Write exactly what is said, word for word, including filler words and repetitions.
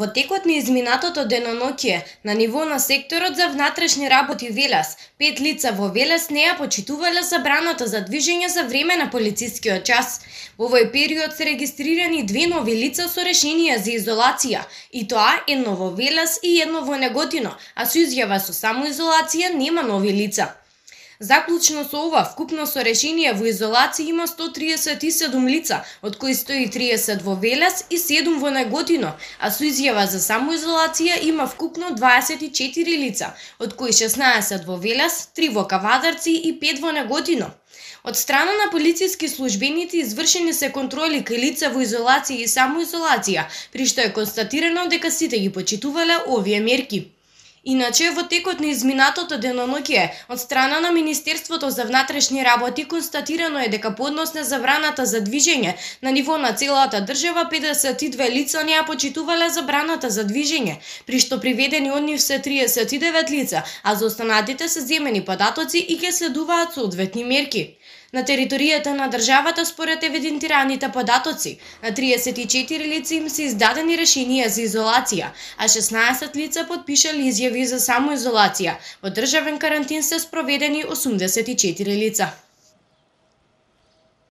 Во текот на изминатото деноноќие, на ниво на секторот за внатрешни работи Велес, пет лица во Велес не ја почитувале забраната за движење за време на полицискиот час. Во овој период се регистрирани две нови лица со решенија за изолација, и тоа едно во Велес и едно во Неготино, а со изјава со самоизолација нема нови лица. Заклучно со ова, вкупно со решение во изолација има сто триесет и седум лица, од кои сто и триесет во Велес и седум во Неготино, а со изјава за самоизолација има вкупно дваесет и четири лица, од кои шеснаесет во Велес, три во Кавадарци и пет во Неготино. Од страна на полициски службеници извршени се контроли кај лица во изолација и самоизолација, при што е констатирано дека сите ги почитувале овие мерки. Иначе, во текот на изминатото деноноќие, од страна на Министерството за внатрешни работи констатирано е дека по однос на забраната за движење на ниво на целата држава педесет и две лица не ја почитувале забраната за движење, при што приведени од нив се триесет и девет лица, а за останатите се земени податоци и ќе следуваат соодветни мерки. На територијата на државата, според евидентираните податоци, на триесет и четири лица им се издадени решенија за изолација, а шеснаесет лица потпишале изјави за самоизолација. Во државен карантин се спроведени осумдесет и четири лица.